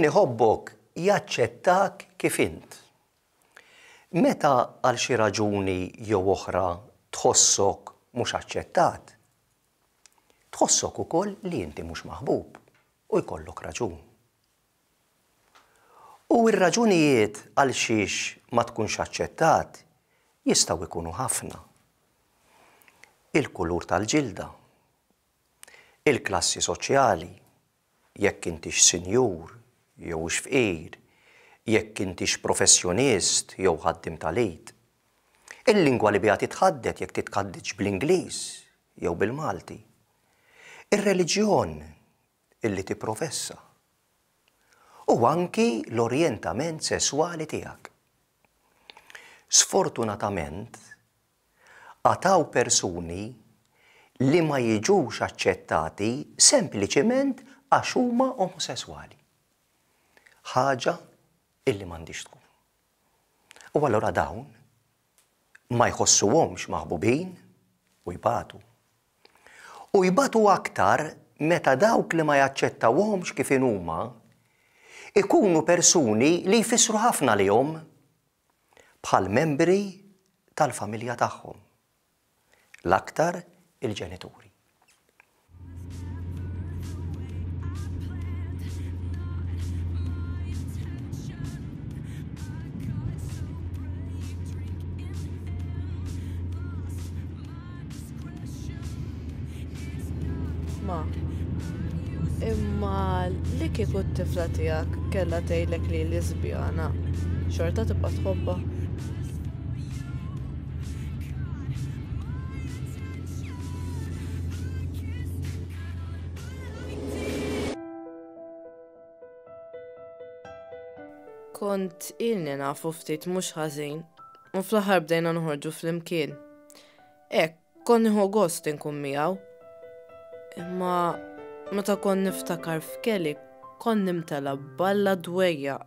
Min iħobbok jaċċettak kif int. Meta għal xi raġuni jew oħra tħossok mhux aċċettat, tħossok ukoll li inti mhux maħbub u jkollok raġun. U r-raġunijiet għal xiex ma tkunx aċċettat jistgħu jkunu ħafna. Il-kulur tal-ġilda, il-klassi soċjali, jekk intix sinjur jew hux fqir, jekk intix professjonist jew ħaddiem tal-id. Il-lingwa li biha titħaddet jekk titħadditx bl-Ingliż jew bil-Malti. Ir-reliġjon illi tipprofessa. U anki l-orjentament sesswali tiegħek. Sfortunatament, Għad hawn persuni li ma jiġux aċċettati sempliċiment għax huma omosesswali. Ħaġa illi m'għandhiex tkun. U allura dawn ma jħossuhomx maħbubin u jbatu. U jbatu aktar meta dawk li ma jaċċettawhomx kif inhuma ikunu persuni li jfissru ħafna għalihom bħal membri tal-familja tagħhom, l-aktar il-ġenituri. Ma, imma li kieku t-tifla tiegħek kellha tgħidlek li lesbjana, xorta tibqa' tħobbha? Kont ilni nafu ftit mhux ħażin u fl-aħħar bdejna noħorġu flimkien. Hekk, kont nieħu gost inkun miegħu. Imma meta kont niftakar f'Kelly kont nimtela b'balla dwejjaq.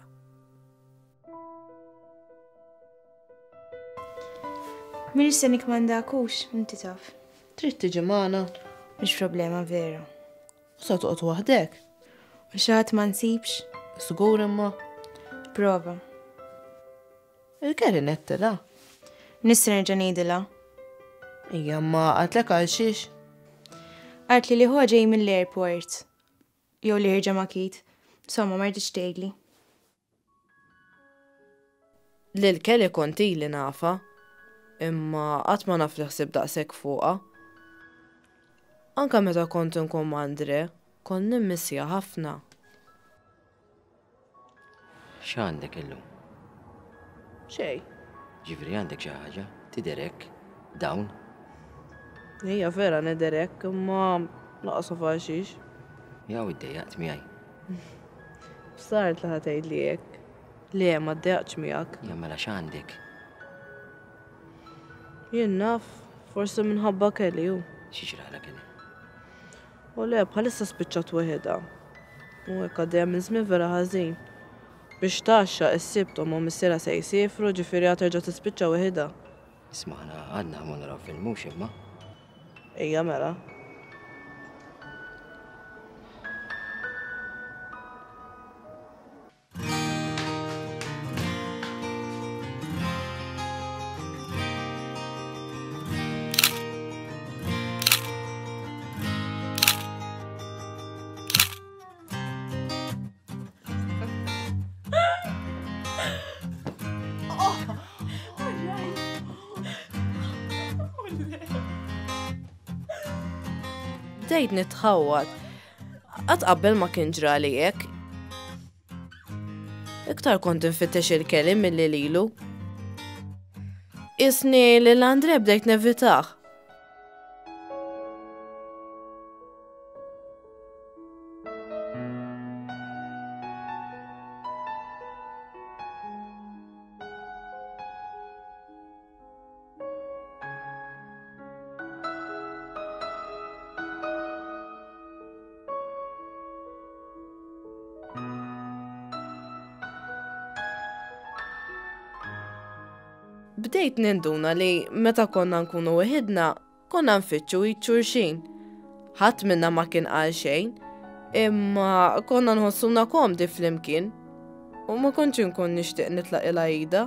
M'iniex se nikkmandak hux, inti taf. Trid tiġi magħna? Mhix problema vera. U sa toqgħod waħdek? U xi ħadd ma nsibx? Żgur imma. Prova. Il-Kelly nettilha. Nista' nerġa' ngħidilha. Ija ma qaltlek għal xiex? Qaltli li ħuha ġej mill-airport. Jew li ħirġa ma' Keith. Insomma, ma rridx tgħidli. Lil Kelly kont ili nafha, imma qatt ma naf li ħsibt daqshekk fuqha. Anke meta kont inkun ma' Andre, kont nimmissja ħafna. X'għandek illum? Xejn. Ġifieri għandek xi ħaġa? Tidher hekk, down. Ejja vera nidher hekk, imma lanqas naf għal xiex. Jew iddejjaqt miegħi. Bsart li ħa tgħidli hekk. Le, ma ddejjaqtx miegħek. Ja mela x'għandek? Jien naf, forsi minħabba Kelly hu. Xi ġralha Kelly? U le, bħalissa spiċċat weħidha. U hekk għaddejja minn żmien vera ħażin. Biex tgħaxxaq is-Sibt ommha u missierha se jsifru, ġifieri għad terġa' tispiċċa weħidha. Isma' aħna għadna ħa mmorru naraw film hux imma? Ejja mela. Bdejt nitħawwad. Qatt qabel ma kien ġrali hekk. Iktar kont infittex il-Kelly milli lilu. Isni lil Andre bdejt nevitah. Bdejt ninduna li meta konna nkunu weħidna, konna nfittxu id xulxin. Ħadd minna ma kien qal xejn. Imma konna nħossuna komdi flimkien u ma kontx inkun nixtieq nitlaq il-għida.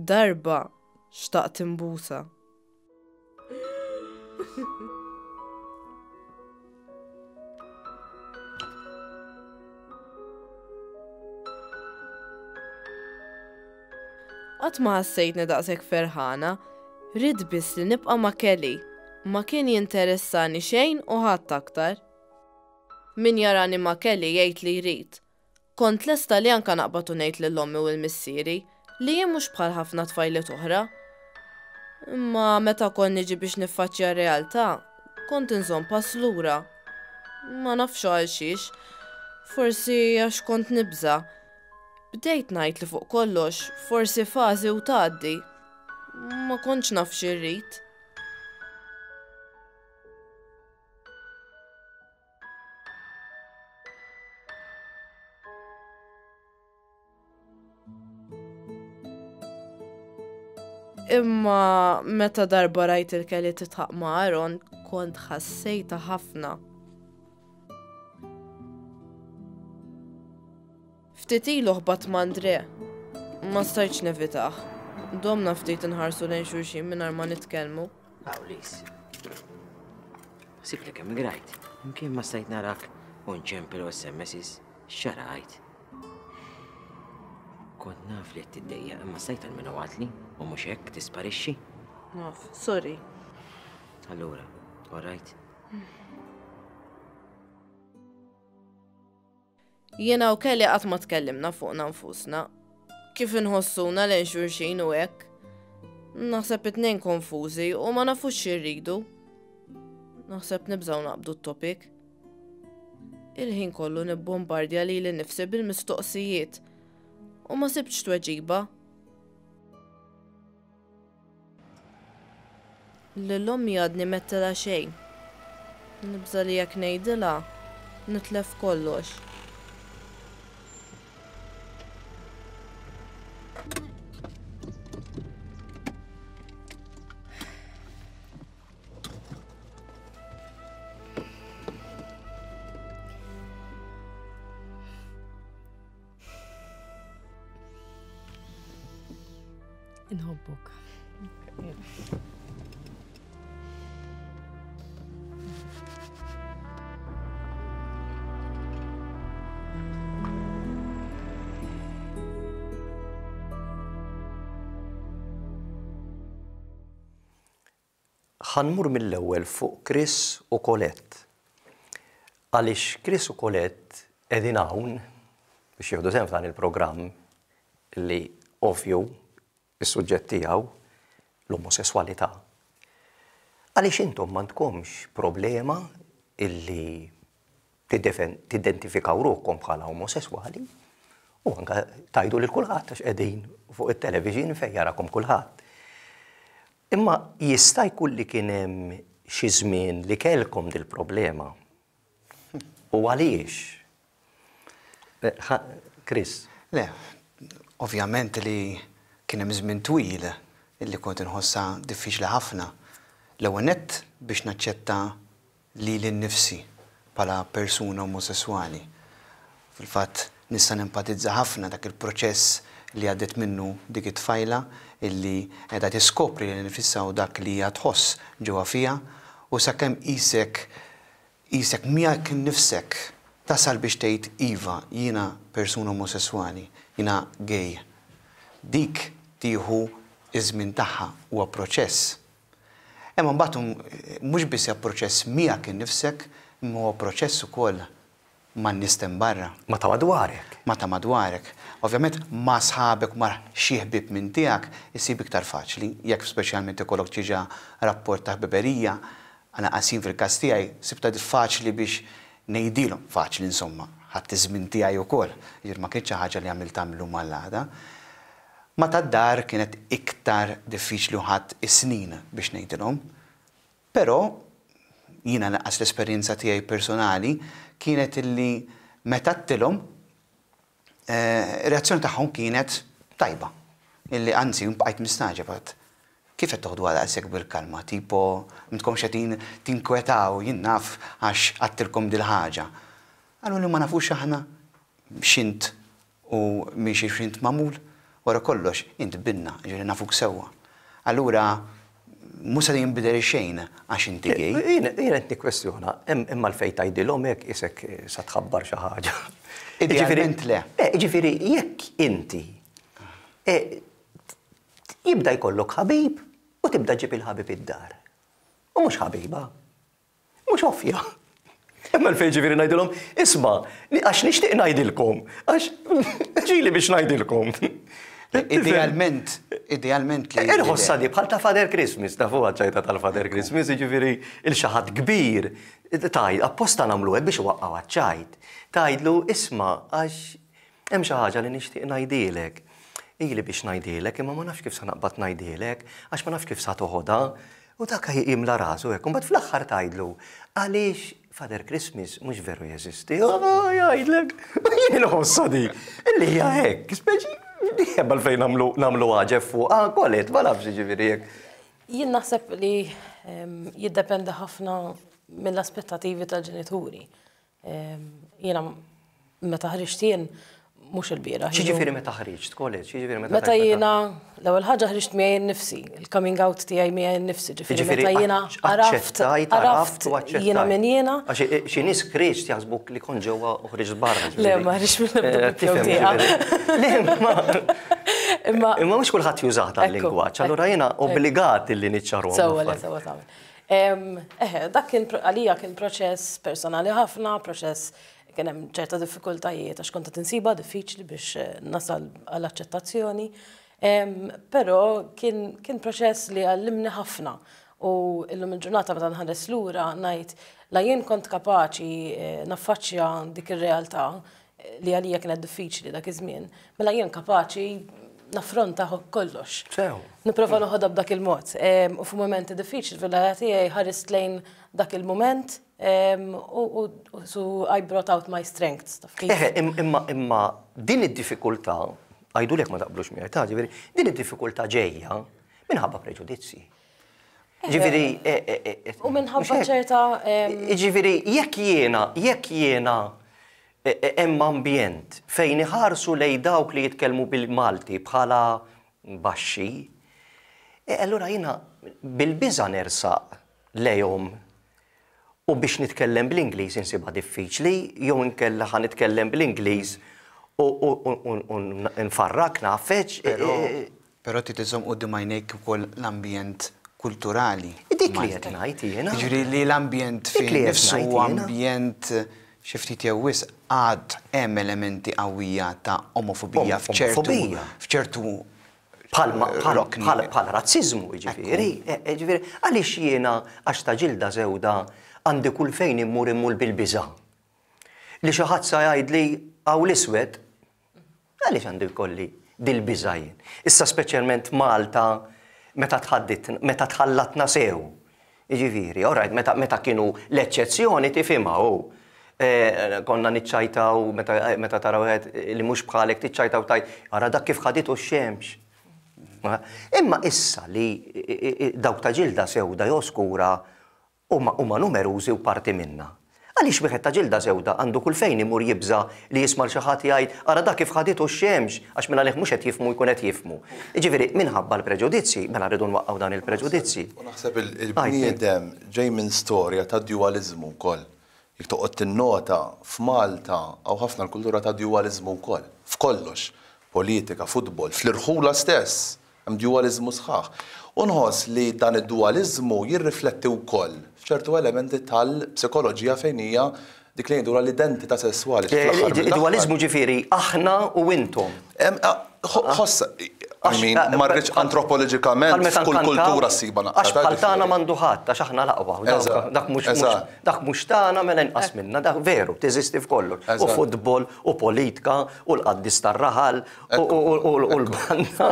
Darba xtaqt imbusa. Qatt ma ħassejtni daqshekk ferħana, ridt biss li nibqa' ma' Kelly. Ma kien jinteressani xejn u ħadd aktar. Min jarani ma' Kelly jgħid li jrid. Kont lesta li anke naqbad u ngħid lil ommi u 'l missieri li jien mhux bħal ħafna tfajliet oħra. Imma meta kont niġi biex niffaċċja r-realtà, kont inżomm pass lura. Ma nafx għal xiex. Forsi għax kont nibża'. Bdejt ngħid li fuq kollox forsi fażi u tgħaddi. Ma kontx naf xi rrid. Imma meta darba rajt il-Kelly titħaq ma' Aaron, kont ħassejta ħafna. Ftit ilu ħbatt ma' André. Ma stajtx nevitah. Domna ftit inħarsu lejn xulxin mingħajr ma nitkellmu. Awlis. Ħsibt li kemm grajt. Imkien ma stajt narak u nċempel u SMSs. X'xarajt? Kont naf li qed tiddejjaq imma stajt almenu għadli u mhux hekk tisparixxi. Naf, sorry. Allura, all right? Jiena u Kelly qatt ma tkellimna fuqna nfusna. Kif inħossuna lejn xulxin u hekk. Naħseb it-tnejn konfużi u ma nafux xi rridu. Naħseb nibżgħu naqbdu t-topic. Il-ħin kollu nibbombardja lili nnifsi bil-mistoqsijiet u ma sibtx tweġiba. Lil ommi għadni m'għedtilha xejn. Nibża' li jekk ngħidilha, nitlef kollox. Inħobbok. Ħa nmur mill-ewwel fuq Chris u Colette. Għaliex Chris u Colette qegħdin hawn biex jieħdu sehem f'dan il-programm li ovvju is-suġġett tiegħu l-omosesswalità. Għaliex intom m'għandkomx problema illi tidentifikaw ruħkom bħala omosesswali u anke tgħidu lil kulħadd għax qegħdin fuq it-television fejn jarakom kulħadd. Imma jista' jkun li kien hemm xi żmien li kellkom dil-problema. U għaliex? Chris. Le, ovvjament li kien hemm żmien twil li kont inħossha diffiċli ħafna. L-ewwel nett biex naċċetta lili nnifsi bħala persuna omosesswali. Fil-fatt nista' nempatizza ħafna dak il-proċess li għaddiet minnu dik it-tfajla illi qiegħda tiskopri lilha nifisha u dak li hija tħoss ġewwa fiha u sakemm qisek qisek miegħek innifsek tasal biex tgħid iva jiena persuna omosesswali, jiena gay. Dik tieħu ż-żmien tagħha, huwa proċess. Imma mbagħad mhux biss hija proċess miegħek innifsek, imma huwa proċess ukoll man-nies t'hemm barra. Ma' ta' madwarek. Ma' ta' madwarek. Ovvjament ma' sħabek u ma' xi ħbieb minn tiegħek issib iktar faċli, jekk speċjalment ikollok diġà rapport ta' ħbiberija, lanqas jien fil-każ tiegħi sibtha faċli biex ngħidilhom, faċli insomma, ħadt iż-żmien tiegħi wkoll, jiġifieri ma kinitx xi ħaġa li għamiltha mil-lum għall-għada. Ma' tad-dar kienet iktar diffiċli u ħadt is-snin biex ngħidilhom. Però jiena lanqas l-esperjenza tiegħi personali kienet illi meta għedtilhom, ir-reazzjoni tagħhom kienet tajba. Illi anzi bqajt mistagħġeb għad kif qed toħduha daqshekk bil-kalma, tipo m'intkomx qegħdin tinkwetaw jien naf għax għadtilkom dil-ħaġa. Qaluli ma nafux aħna x'int u minn xiex int magħmul? Wara kollox, int binna, jiġifieri nafuk sewwa. Allura, mhux se jinbidel xejn għax inti gay. Jien qed nikkwestjona, hemm għalfejn tgħidilhom hekk qisek sa tħabbar xi ħaġa. Idealment le. Jiġifieri jekk inti jibda jkollok ħabib u tibda ġġib il-ħabib id-dar. U mhux ħabiba. Mhux ovvja. Hemm għalfejn ġifieri ngħidilhom, isma' għax nixtieq ngħidilkom, għax ġieli biex ngħidilkom. Idealment, idealment li. Inħossha di bħal ta' Father Christmas, tafuha ċ-ċajta tal-Father Christmas, jiġifieri il xi ħadd kbir, tgħid, apposta nagħmlu hekk biex iwaqqgħu għaċ-ċajt. Tgħidlu, isma' għax Hemm xi ħaġa li nixtieq ngħidhielek. Ili biex ngħidhielek imma ma nafx kif sa naqbad ngħidhielek għax ma nafx kif sa toħodha. U dak jimla rasu hekk. U mbagħad fl-aħħar tgħidlu, għaliex Father Christmas mhux veru jeżisti. Ah, jgħidlek, jien inħossha di. Illi hija hekk, speċi hemm għalfejn nagħmlu nagħmlu għaġeb fuq. Ah, kolet, ma nafx jiġifieri hekk. Jien naħseb li jiddependi ħafna mill-aspettativi tal-ġenituri. Jiena meta ħriġt jien mhux il-bieraħ. X'jiġifieri meta ħriġt, college, x'jiġifieri meta Meta jiena l-ewwel ħaġa ħriġt miegħi nnifsi, il-coming out tiegħi miegħi nnifsi, ġifieri meta jiena għaraft, għaraft jiena min jiena. Għax xi nies ħriġt jaħsbuk li kont ġewwa u ħriġt barra. Le, ma ħriġt minn ebda biċċa Le, imma Imma mhux kulħadd jużah dal-lingwaġġ, allura jiena obbligat illi niċċarhom. Sewwa, le, sewwa tagħmel. Eħe, dak kien għalija kien proċess personali ħafna, proċess kien hemm ċerta diffikultajiet għax kont qed insibha diffiċli biex eh, nasal għall aċċettazzjoni. Però kien, kien proċess li għallimni ħafna u illum il-ġurnata meta nħares lura ngħid la jien kont kapaċi eh, naffaċċja dik ir-realtà li għalija kienet diffiċli dak iż-żmien, mela jien kapaċi naffronta kollox. Sew. Nipprova noħodha b'dak il-mod. U f'mumenti diffiċli fil-ħajja tiegħi ħarist lejn dak il-mument u so I brought out my strengths. Eħe, imma imma din id-diffikultà, għidulek ma taqblux miegħi, ta' ġifieri, din id-diffikultà ġejja minħabba preġudizzji. Ġifieri. U minħabba ċerta. Ġifieri, jekk jiena, jekk jiena hemm ambjent fejn iħarsu lejn dawk li jitkellmu bil-Malti bħala baxxi, allura jiena bil-biża' nersaq lejhom u biex nitkellem bl-Ingliż insibha diffiċli jew inkella ħa nitkellem bl-Ingliż u nfarrak, ngħaffeġ. Però trid iżżomm quddiem għajnejk ukoll l-ambjent kulturali. Dik li qed ngħid jiena. Jiġifieri li l-ambjent fih innifsu huwa ambjent xi ftit jew wisq għad hemm elementi qawwija ta' omofobija f'ċertu f'ċertu Bħal razziżmu, jiġifieri. Jiġifieri għaliex jiena għax ta' ġilda sewda għandi kull fejn immur immur bil-biża'. Li xi ħadd sa jgħidli hawn l-iswed Għaliex għandu jkolli dil-biża' jien? Issa speċjalment Malta meta tħadditna, meta tħallatna sew. Jiġifieri, all right, meta, meta kienu l-eċċezzjoni tifhimha hu. Eh, konna niċċajtaw meta, meta tara wieħed li mhux bħalek tiċċajtaw tgħid, ara dak kif ħaditu x-xemx. Imma issa li dawk ta' ġilda sewda jew skura Huma huma numerużi u parti minna. Għaliex wieħed ta' ġilda sewda għandu kull fejn imur jibża' li jisma' 'l xi ħadd jgħid, ara dak kif ħaditu x-xemx, għax mingħalih mhux qed jifhmu jkun qed jifhmu. Jiġifieri, minħabba l-preġudizzji, mela rridu nwaqqgħu dan il-preġudizzji. U naħseb il-bniedem ġej minn storja ta' djuwaliżmu wkoll. Jekk toqgħod tinnota, f'Malta hawn ħafna l-kultura ta' djuwaliżmu wkoll. F'kollox. Politika, futbol, fl-irħula stess. Hemm duwaliżmu sħaħ. U nħoss li dan id-duwaliżmu jirrifletti wkoll f'ċertu elementi tal-psikoloġija fejn hija dik li ngħidulha l-identità sesswali. Id-duwaliżmu ġifieri aħna u intom. Ħoss, I mean, ma rridx antropoloġikament kull kultura ssiba naqra. Għax bħal tagħna m'għandu ħadd, għax aħna l-aqwa. Dak mhux dak mhux tagħna mela inqas minna, dak veru, teżisti f'kollox. U futbol, u politika, u l-qaddis tar-raħal, u l-banda.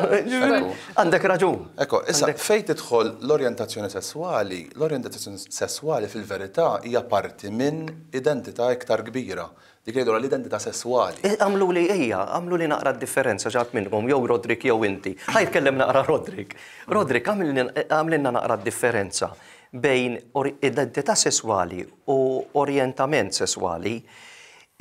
Għandek raġun. Ekku, issa fejn tidħol l-orjentazzjoni sesswali, l-orjentazzjoni sesswali fil-verità hija parti minn identità iktar kbira. Dik li jgħidulha l-identità sesswali. Agħmluli, ejja, agħmluli naqra d-differenza xi ħadd minnkom, jew Roderick jew inti. Ħa jitkellem naqra Roderick. Roderick, agħmlilna naqra d-differenza bejn identità sesswali u orjentament sesswali.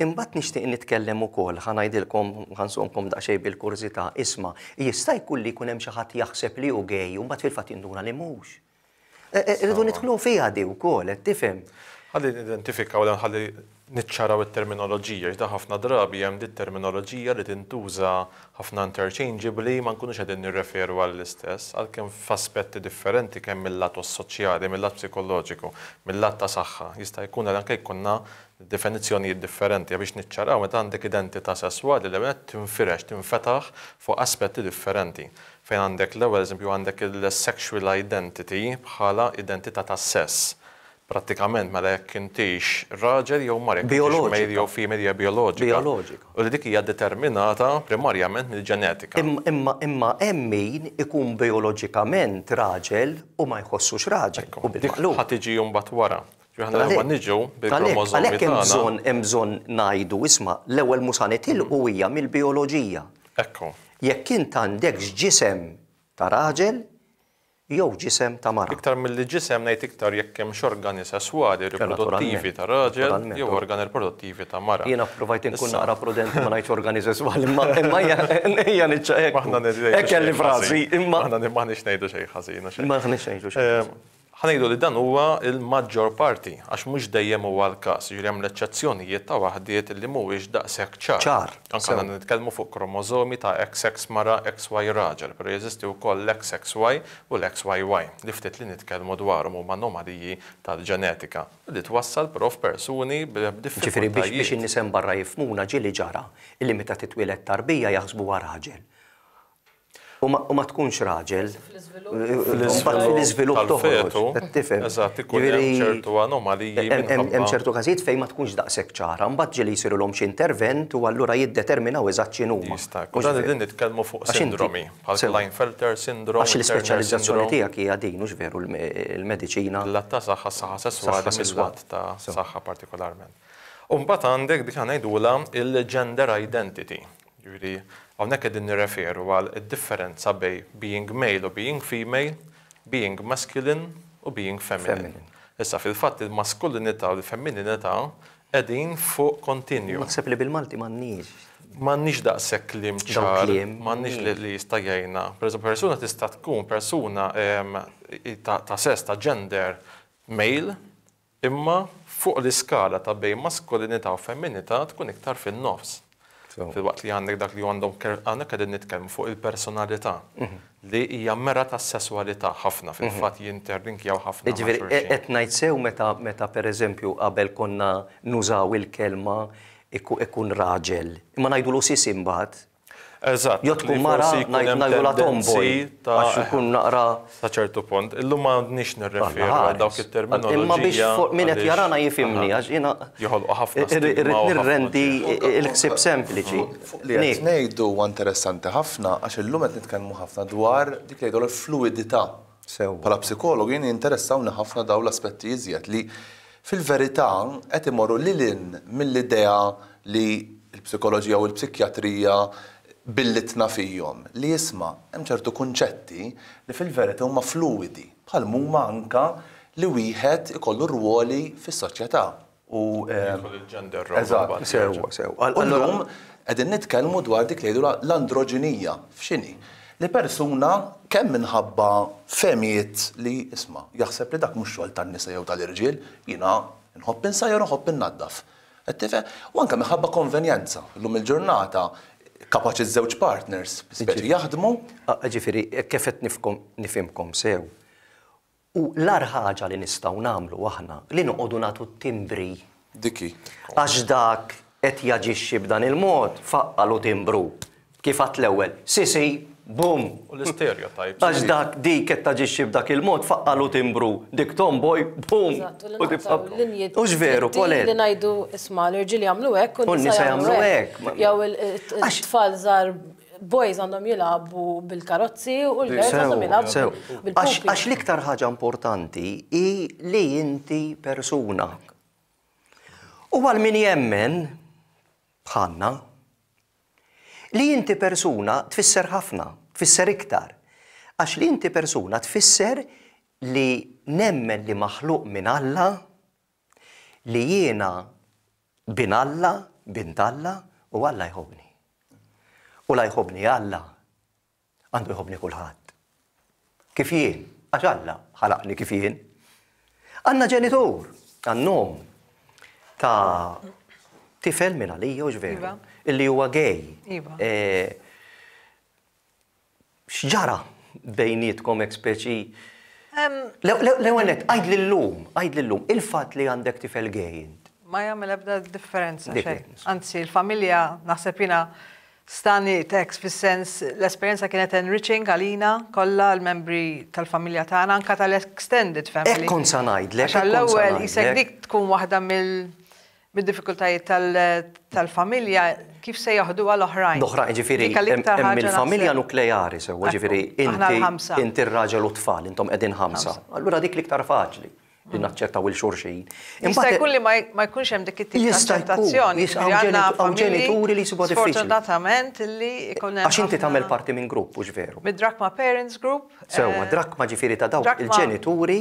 Imbagħad nixtieq nitkellem ukoll, ħa ngħidilkom, ħa nżommkom daqsxejn bil-kurżità, isma', jista' jkun li jkun hemm xi ħadd jaħseb li hu gay u mbagħad fil-fatt jinduna li mhux. Irridu nidħlu fiha di wkoll, qed tifhem. Ħalli nidentifikaw dan ħalli niċċaraw it-terminoloġija, għax da ħafna drabi hemm dit-terminoloġija li tintuża ħafna interchangeably ma nkunux qegħdin nirreferu għall-istess, għalkemm f'aspetti differenti kemm mil-lat soċjali, mil-lat psikoloġiku, mil-lat ta' saħħa. Jista' jkun li anke jkollna definizzjonijiet differenti biex niċċaraw meta għandek identità sesswali l-ewwel nett tinfirex, tinfetaħ fuq aspetti differenti. Fejn għandek l-ewwel eżempju għandek il-sexual identity bħala identità ta' sess. Prattikament mela jekk intix raġel jew mara, jekk intix male jew female hija bijoloġika. Bijoloġika. U li dik hija determinata primarjament mill-ġenetika. Imma imma hemm min ikun bijoloġikament raġel u ma jħossux raġel. U bil-maqlub. Dik ħa tiġi mbagħad wara. Ġifieri aħna l-ewwel niġu bil-kromożomi tagħna. Għalhekk hemm bżonn hemm bżonn ngħidu isma' l-ewwel mhux sa nitilqu hija mill-bijoloġija. Ekku. Jekk int għandekx ġisem ta' raġel jew ġisem ta' mara. Iktar milli ġisem ngħid iktar jekk hemmx organi sesswali riproduttivi ta' raġel jew organi riproduttivi ta' mara. Jiena ppruvajt inkun naqra prudenti ma ngħidx organi sesswali imma imma ejja niċċa hekk. Hekk kelli frażi imma. Aħna m'aħniex ngħidu xejn ħażin. M'aħniex ngħidu xejn. Ħa ngħidu li dan huwa l-maġġor parti, għax mhux dejjem huwa l-każ, jiġifieri hemm l-eċċezzjonijiet ta' waħdiet li mhuwiex daqshekk ċar. Ċar, Anke aħna nitkellmu fuq kromożomi ta' XX mara, XY raġel, però jeżisti wkoll l-XXY u l-XYY, li ftit li nitkellmu dwarhom huma anomaliji tal-ġenetika, li twassal però f'persuni b'diffikultajiet. Ġifieri biex in-nies hemm barra jifhmuna ġieli ġara illi meta titwieled tarbija jaħsbuha raġel. U ma tkunx raġel. Fl-iżvilupp fl-iżvilupp toħroġ. Tifhem. Eżatt, ikun hemm ċertu anomaliji. Hemm ċertu każijiet fejn ma tkunx daqshekk ċara, mbagħad ġieli jsirulhom xi intervent u allura jiddeterminaw eżatt x'inhuma. Jista' jkun. Dan qegħdin nitkellmu fuq sindromi, bħal Klinefelter syndrome. Għax l-ispeċjalizzazzjoni tiegħek hija din, hux veru l-mediċina. L-att ta' saħħa, saħħa sesswali, mill-lat ta' saħħa partikolarment. U mbagħad għandek dik ngħidulha il-gender identity. Jiġifieri hawnhekk qegħdin nirreferu għal id-differenza bejn being male u being female, being masculine u being feminine. Issa fil-fatt il-maskulinità u l-femmininità qegħdin fuq continuum. Naħseb li bil-Malti m'għandniex. M'għandniex daqshekk kliem ċar, m'għandniex li jista' jgħinna. Pereżempju persuna tista' tkun persuna ta' sess, ta' gender male, Imma fuq l-iskala ta' bejn maskulinità u femminità tkun iktar fin-nofs. Filwaqt li għandek dak li għandhom hawnhekk qegħdin nitkellmu fuq il-personalità li hija mera tas-sesswalità ħafna fil-fatt jinterlinkjaw ħafna ma' xulxin. Jiġifieri qed ngħid sew meta meta pereżempju qabel konna nużaw il-kelma ikun raġel, imma ngħidulu sisi mbagħad. Eżatt. Jew tkun mara ngħidulha tomboy. Għax ikun naqra. Sa ċertu punt. Illum ma għandniex nirreferu għal dawk it-terminoloġija. Imma biex min qed jarana jifhimni għax jiena. Joħolqu ħafna stigma. Irrid nirrendi l-ħsieb sempliċi. Fuq li qed ngħidu huwa interessanti ħafna għax illum qed nitkellmu ħafna dwar dik li jgħidulha l-fluwidità. Sewwa. Bħala psikologu jien jinteressawni ħafna dawn l-aspetti iżjed li fil-verità qed imorru lil hinn mill-idea li l-psikoloġija u l-psikjatrija billitna fihom, li isma' hemm ċertu kunċetti li fil-verità huma fluwidi, bħal m'huma anke li wieħed ikollu rwoli fis-soċjetà u Jidħol il-gender role Eżatt. imbagħad. Sewwa, sewwa. U llum qegħdin nitkellmu dwar dik li jgħidulha l-androġinija. F'x'inhi? Li persuna kemm minħabba fehmiet li isma' jaħseb li dak mhux xogħol tan-nisa jew tal-irġiel, jiena nħobb insajjar u nħobb innaddaf. Qed tifhem? U anke minħabba konvenjenza. Illum il-ġurnata kapaċi ż-żewġ partners speċi jaħdmu. Ġifieri, kif qed nifhimkom sew, u l-agħar ħaġa li nistgħu nagħmlu aħna li noqogħdu nagħtu t-timbri. Dik hi. Għax dak qed jaġixxi b'dan il-mod, faqqalu timbru. Kif għedt l-ewwel, sisi! Bum! U l-istereotypes. Għax dak dik qed taġixxi b'dak il-mod faqqalu timbru, dik tomboy, bum! Eżatt, u li U tibqa' naqtgħu linji Hux veru, dritti Colette? Li ngħidu isma' l-irġiel jagħmlu hekk U u n-nisa jagħmlu hekk. Ma- Jew it-tfal żgħar boys għandhom jilagħbu bil-karozzi u l-girls għandhom jilagħbu Sew. Għax bil-pupi. għax l-iktar ħaġa importanti hi li inti persuna. U għal min jemmen bħalna, Li inti persuna tfisser ħafna, tfisser iktar. Għax li inti persuna tfisser li nemmen li maħluq minn Alla, li jiena bin Alla, bint Alla, u Alla jħobbni. U la jħobbni Alla, Għandu jħobbni kulħadd. Kif jien, għax Alla ħalaqni kif jien. Għandna ġenitur, għandna omm ta' tifel minn għalija u veru, iva. illi huwa gay. Iva. E, x'ġara bejnietkom hekk speċi? L-ewwel nett, għid lillum, għid lillum, il-fatt li għandek tifel gay int. Ma jagħmel ebda differenza xejn. Anzi, il-familja naħseb jiena stagħniet hekk fis-sens l-esperjenza kienet enriching għalina kollha l-membri tal-familja tagħna anke tal-extended family. Hekk kont sa ngħidlek. Għax għall-ewwel qisek dik tkun waħda mid-diffikultajiet tal-familja kif se jaħduha l-oħrajn. L-oħrajn, jiġifieri hemm il-familja nukleari sewwa, jiġifieri inti inti r-raġel u t-tfal, intom qegħdin ħamsa. Allura dik l-iktar faċli. li naċċettaw il xulxin. Jista' jkun li ma jkunx hemm dik it-tip ta' aċċettazzjoni. Hawn ġenituri li jsibuha diffiċli. Sfortunatament li jkun hemm. Għax inti tagħmel parti minn grupp, hux veru? Mid-Drakma Parents Group. Sewwa, Drakma ġifieri ta' dawk il-ġenituri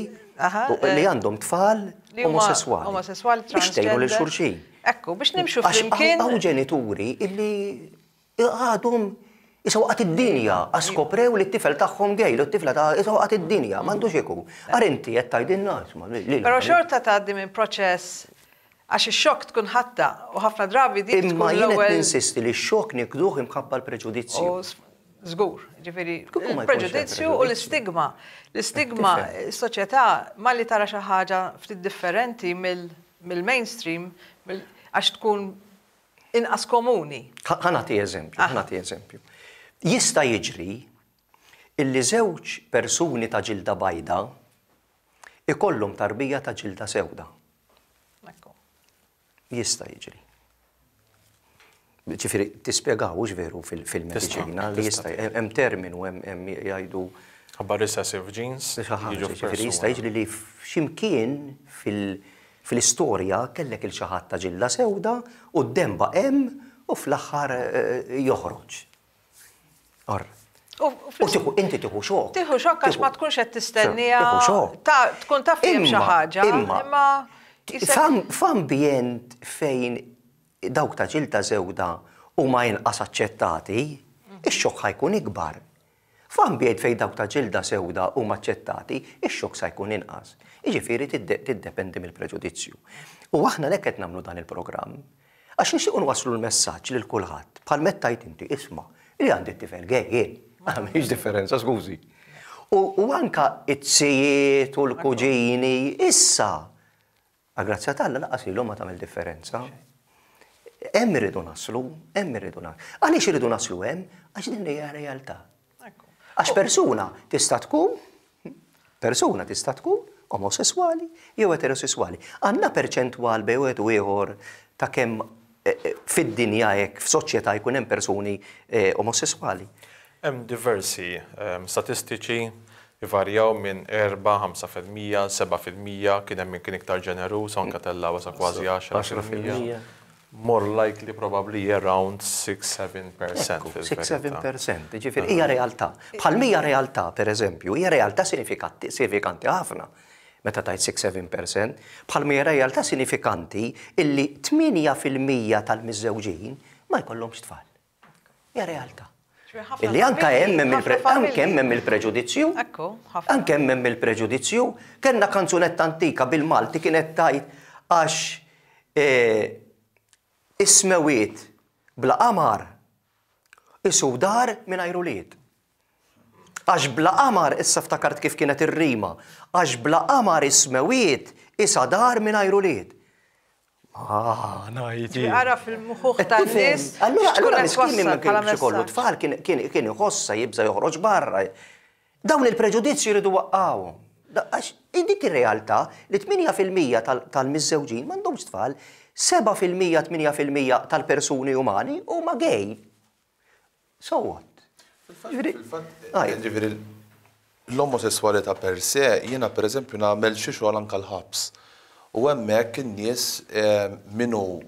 li għandhom tfal omosesswali. Omosesswali, Biex tgħinu lil xulxin. Ekku, biex nimxu flimkien. Hawn ġenituri illi Għadhom issa waqgħet id-dinja għax skoprew li t-tifel tagħhom gay, li t-tifla ta' issa waqgħet id-dinja, m'għandux ikun. Ara inti qed tgħidilna isma' lil. Però xorta tgħaddi minn proċess għax ix-xokk tkun ħadtha u ħafna drabi dik tkun Imma jien qed l-ewwel. ninsisti li x-xokk nikduh imħabba l-preġudizzju. U żgur, jiġifieri Kieku ma jkunx hemm il-preġudizzju u preġudizzju. l-istigma. L-istigma, Tifhem. is-soċjetà malli tara xi ħaġa ftit differenti mill-mainstream, għax tkun inqas komuni. Ħa nagħti eżempju, ħa nagħti eżempju. Jista' jiġri illi żewġ persuni ta' ġilda bajda ikollhom tarbija ta' ġilda sewda. Jista' jiġri. Ġifieri tispjegaw hux veru fil-mediċina li jista' hemm terminu hemm jgħidu Ħabba recessive genes. Ġifieri jista' jiġri li f'ximkien fil- Fl-istorja kellek 'il xi ħadd ta' ġilda sewda u d-demm baqa' hemm u fl-aħħar joħroġ. Or. U tieħu inti tieħu xokk. Tieħu xokk għax ma tkunx qed tistenniha. Tieħu xokk. Tkun taf li hemm xi ħaġa. Imma f'ambjent fejn dawk ta' ġilda sewda huma inqas aċċettati, ix-xokk ħa jkun ikbar. F'ambjent fejn dawk ta' ġilda sewda huma aċċettati, ix-xokk sa jkun inqas. Jiġifieri tiddependi mill-preġudizzju. U aħna għalhekk qed nagħmlu dan il-programm. Għax nixtiequ nwasslu l-messaġġ lil kulħadd, bħal meta tgħid inti, isma', li għandi t-tifel gay jien. M'hemmx differenza, skużi. U anke t-zijiet u l-kuġini, issa, Għall-grazzja t'Alla lanqas lilhom ma tagħmel differenza. Hemm irridu naslu, hemm irridu naslu. Għaliex irridu naslu hemm? Għax din hija realtà. Għax persuna tista' tkun persuna tista' tkun omosesswali jew eterosesswali. Għandna perċentwal bejn wieħed u ieħor ta' kemm eh, eh, fid-dinja hekk f'soċjetà jkun hemm persuni eh, omosesswali. Hemm diversi statistiċi Ivarjaw minn 4, 5%, 7%, kien hemm min kien iktar ġeneruż, anke tellgħuha sa kważi 10%. More likely probably around 6-7% fil-verità. 6-7%, jiġifieri hija realtà. Bħal m'hija realtà, pereżempju, hija realtà sinifikanti ħafna meta tgħid 6-7%, bħal m'hija realtà sinifikanti illi 8% tal-miżżewġin ma jkollhomx tfal. Hija realtà. Illi anka hemm anke hemm hemm il-preġudizzju. Anke hemm hemm il-preġudizzju. Kellna kanzunetta antika bil-Malti kienet tgħid għax e, is-smewiet bla qamar isu dar mingħajr ulied. Għax bla qamar, issa ftakart kif kienet ir-rima, għax bla qamar is-smewiet isa dar mingħajr ulied. Ah, ngħid. Ara fil-muħuħ tan-nies. Allura allura miskin ma kienx ikollu tfal kien iħossa jibża' joħroġ barra. Dawn il-preġudizzji jridu waqqgħuhom. Għax dik ir-realtà li 8% tal-miżżewġin m'għandhomx tfal, 7% 8% tal-persuni umani huma gay. So what? Ġifieri l-omosesswalità per se, jiena pereżempju nagħmel xi xogħol anke l-ħabs. U hemmhekk in-nies min hu,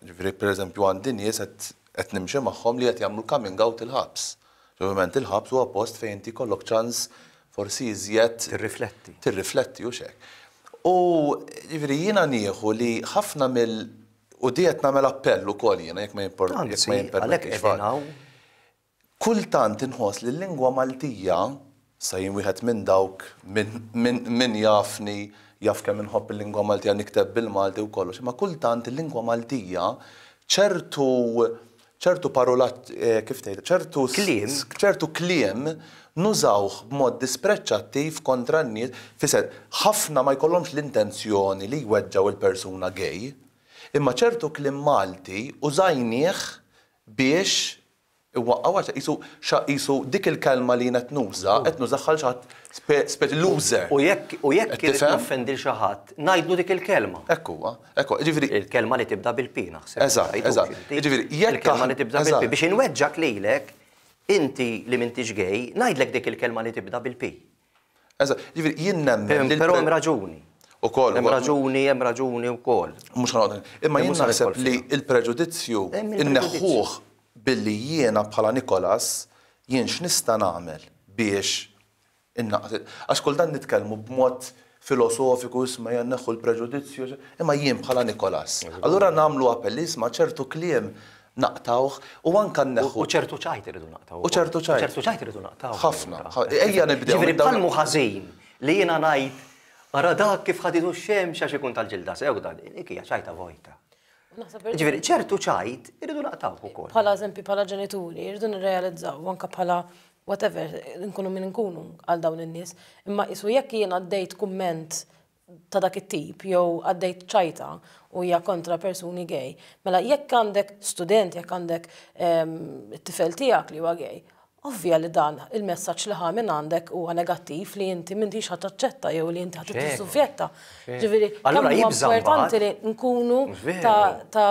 ġifieri pereżempju għandi nies qed nimxi magħhom li qed jagħmlu coming out il-ħabs. Ovvjament il-ħabs huwa post fejn inti jkollok ċans forsi iżjed. Tirrifletti. Tirrifletti hux hekk. U ġifieri jiena nieħu li ħafna mill U di qed nagħmel appell ukoll jiena jekk ma jippermettix. Kultant inħoss li l-lingwa Maltija, sa jien wieħed minn dawk min jafni jaf kemm inħobb il-lingwa Maltija nikteb bil-Malti u kollox, imma kultant il-lingwa Maltija ċertu ċertu parolat kif tgħid, ċertu kliem, ċertu kliem nużawh b'mod dispreċċattiv kontra n-nies, fisser ħafna ma jkollhomx l-intenzjoni li jweġġgħu il-persuna gay, imma ċertu kliem Malti użajnieh biex iwaqqgħu għax qisu qisu dik il-kelma li jien qed nuża qed nużaha għal xi ħadd speċi loser. U jekk u jekk irid noffendi 'l xi ħadd, ngħidlu dik il-kelma. Hekk huwa. Hekk huwa. Jiġifieri. Il-kelma li tibda bil-P naħseb. Eżatt, eżatt. Jiġifieri jekk. Il-kelma li tibda bil-P. Biex inweġġgħek lilek, inti li m'intix gay, ngħidlek dik il-kelma li tibda bil-P. Eżatt. Jiġifieri jien nemmen. Però hemm raġuni. Ukoll. Hemm raġuni, hemm raġuni wkoll. Mhux ħa noqgħod. Imma jien naħseb li l-preġudizzju nneħħuh billi jiena bħala Nicholas jien x'nista' nagħmel biex innaqqas għax kultant nitkellmu b'mod filosofiku isma' ejja nneħħu l-preġudizzju, imma jien bħala Nicholas. Allura nagħmlu appell isma' ċertu kliem naqtgħuh u anke nneħħu. U ċertu ċajt irridu naqtgħu. U ċertu ċajt. U ċertu ċajt irridu naqtgħu. Ħafna. Ejja nibdew. Ġifieri bħal mhu ħażin li jiena ngħid ara dak kif ħaditu x-xemx għax ikun tal-ġilda sewda, dik hija ċajta vojta. Ġifieri ċertu ċajt irridu naqtgħuh ukoll. Bħala eżempju bħala ġenituri irridu nirrealizzaw anke bħala whatever nkunu min nkunu għal dawn in-nies, imma qisu jekk jien għaddejt kumment ta' dak it-tip jew għaddejt ċajta u hija kontra persuni gay, mela jekk għandek student, jekk għandek it-tifel tiegħek li huwa gay, ovvja li dan il-messaġġ li ħa minn għandek huwa negattiv li inti m'intix ħa taċċetta jew li inti ħa tissufjetta. Ġifieri, kemm huwa importanti li nkunu ta'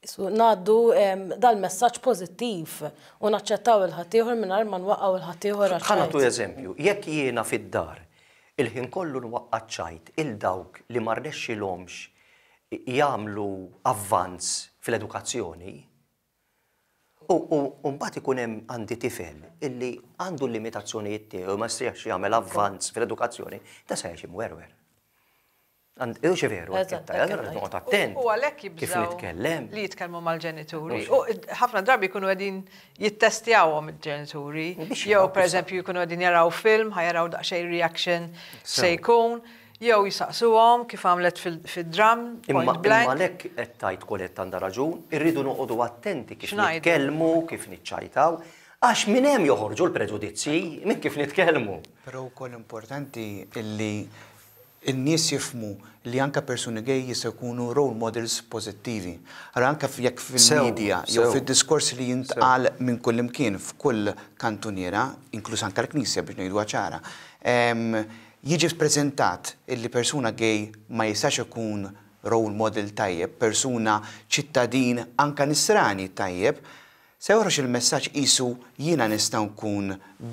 ngħaddu dal-messaġġ pożittiv u naċċettaw 'il ħaddieħor mingħajr ma nwaqqgħu 'il ħaddieħor għaċ-ċajt. Ħa nagħtu eżempju, jekk jiena fid-dar il-ħin kollu nwaqqa' ċ-ċajt 'il dawk li ma rnexxilhomx jagħmlu avvanz fl-edukazzjoni, u mbagħad ikun hemm għandi tifel illi għandu l-limitazzjonijiet tiegħu ma jistax jagħmel avvanz fl-edukazzjoni, da se jgħix imwerwer. Hux veru, allura noqgħod attent. U għalhekk jibżgħu nitkellem. Li jitkellmu mal-ġenituri. U ħafna drabi jkunu qegħdin jittestjawhom il-ġenituri. Jew pereżempju jkunu qegħdin jaraw film, ħa jaraw daqsxejn reaction se jkun, jew jisaqsuhom kif għamlet fid-dram, point blank. Imma għalhekk qed tgħid Colette għandha raġun, irridu noqogħdu attenti kif nitkellmu, kif niċċajtaw, għax minn hemm joħorġu l-preġudizzji, minn kif nitkellmu. Però wkoll importanti illi In-nies jifhmu li anke persuni gay jistgħu jkunu role models pożittivi. Allura anke jekk fil-media jew fid-diskors li jintqal minn kullimkien f'kull kantuniera, inkluż anke l-Knisja biex ngħiduha ċara, jiġi ppreżentat illi persuna gay ma jistax ikun role model tajjeb, persuna ċittadin anke nisrani tajjeb, Se joħroġ il-messaġġ qisu jiena nista' nkun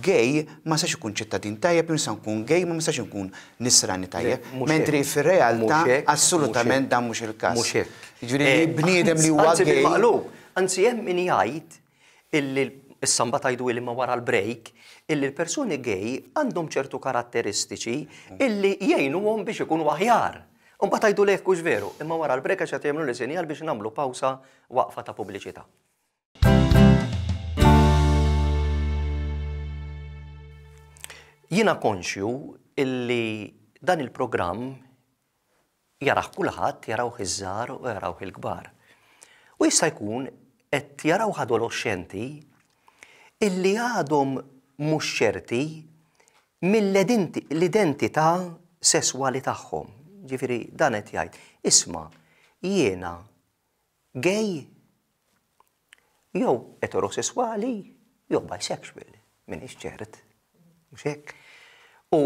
gay ma nistax ikun ċittadin tajjeb jew nista' nkun gay ma nistax inkun nisrani tajjeb, mentri fir-realtà assolutament dan mhux il-każ. Mhux hekk. Jiġifieri li bniedem li huwa gay. Anzi bil-maqlub, anzi hemm min jgħid illi, issa mbagħad għiduli imma wara l-break, illi l-persuni gay għandhom ċertu karatteristiċi illi jgħinuhom biex ikunu aħjar. U mbagħad għiduli jekk hux veru, imma wara l-break għax qed jagħmluli sinjal biex nagħmlu pawsa waqfa ta' pubbliċità. Jiena konxju illi dan il-programm jarah kulħadd, jarawh iż-żgħar u jarawh il-kbar. U jista' jkun qed jarawh adoloxxenti illi għadhom mhux ċerti mill-identità sesswali tagħhom. Ġifieri dan qed jgħid. Isma', jiena gay jew eterosesswali jew bisexual, m'iniex ċert. Mhux hekk? U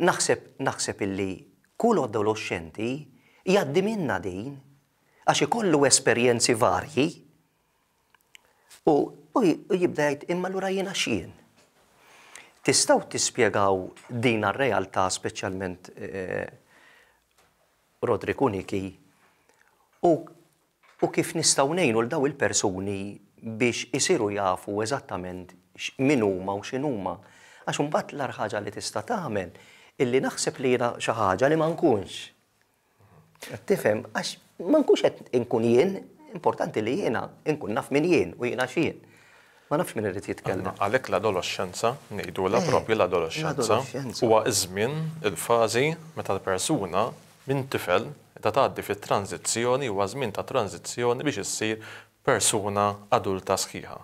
naħseb naħseb illi kull adoloxxenti jgħaddi minnha din għax ikollu esperjenzi varji u u jibda jgħid imma allura jiena x'jien? Tistgħu tispjegaw din ar-realtà speċjalment eh, Roderick u Nikki u u kif nistgħu ngħinu 'l dawn il-persuni biex isiru jafu eżattament min huma u x'inhuma. Għax imbagħad l-agħar ħaġa li tista' tagħmel illi naħseb li jiena xi ħaġa li ma nkunx. Qed tifhem? Għax ma nkunx qed inkun jien, importanti li jiena nkun naf min jien u jiena x'jien. Ma nafx min irid jitkellem. Għalhekk l-adoloxxenza, ngħidulha proprju l-adoloxxenza, huwa ż-żmien, il-fażi meta l-persuna minn tifel qiegħda tgħaddi fi tranżizzjoni, huwa żmien ta' tranżizzjoni biex issir persuna adulta sħiħa.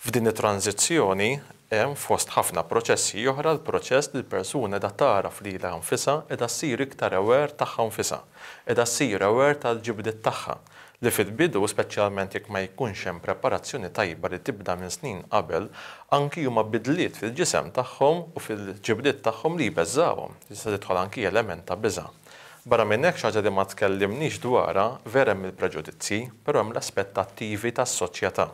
F'din it-tranżizzjoni hemm fost ħafna proċessi oħra l-proċess li l-persuna qiegħda tagħraf lilha nfisha, qiegħda ssir iktar aware tagħha nfisha, qiegħda ssir aware tal-ġibdiet tagħha, li fil-bidu, speċjalment jekk ma jkunx hemm preparazzjoni tajba li tibda minn snin qabel, anki huma bidliet fil-ġisem tagħhom u fil-ġibdiet tagħhom li jbeżżgħuhom. Tista' tidħol anki element ta' biża'. Barra minn hekk, xi ħaġa li ma tkellimniex dwarha, vera hemm il-preġudizzji, però hemm l-aspettattivi tas-soċjetà.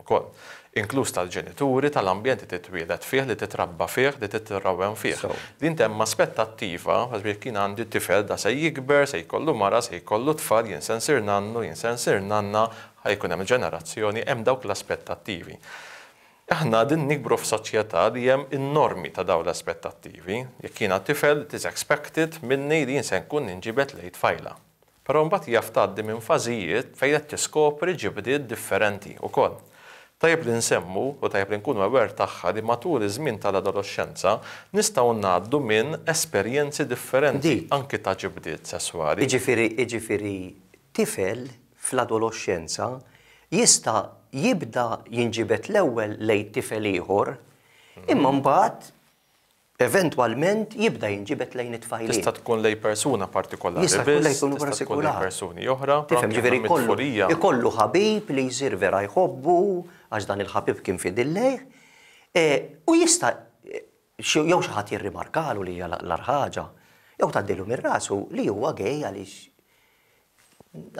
ukoll, inkluż tal-ġenituri, tal-ambjent li titwieled fih, li titrabba fih, li titrawwem fih. Li inti hemm aspettattiva, pereżempju jekk jien għandi tifel da se jikber, se jkollu mara, se jkollu tfal, jien se nsir nannu, jien se nsir nanna, ħa jkun hemm ġenerazzjoni, hemm dawk l-aspettattivi. Aħna qegħdin nikbru f'soċjetà li hemm in-normi ta' dawn l-aspettattivi. Jekk jiena tifel, it is expected minni li jien se nkun ninġibed lejn tfajla. Però mbagħad jaf tgħaddi minn fażijiet fejn qed tiskopri ġibdiet differenti wkoll. Tajjeb li nsemmu, u tajjeb li nkunu aware tagħha li matul iż-żmien tal-adoloxxenza nistgħu ngħaddu minn esperjenzi differenti anki ta' ġibdiet sesswali. Jiġifieri, jiġifieri tifel fl-adoloxxenza jista' jibda jinġibed l-ewwel lejn tifel ieħor, imma mbagħad Eventwalment jibda jinġibed lejn it-tfajliet. Tista' tkun lejn persuna partikolari biss, tista' tkun lejn persuni oħra, però anke Tifhem, ġifieri jkollu ħabib li jsir vera jħobbu għax dan il-ħabib kien fidil lejh, u jista' jew xi ħadd jirrimarkalu li hija l-agħar ħaġa, jew tgħaddilu minn rasu li huwa gay għaliex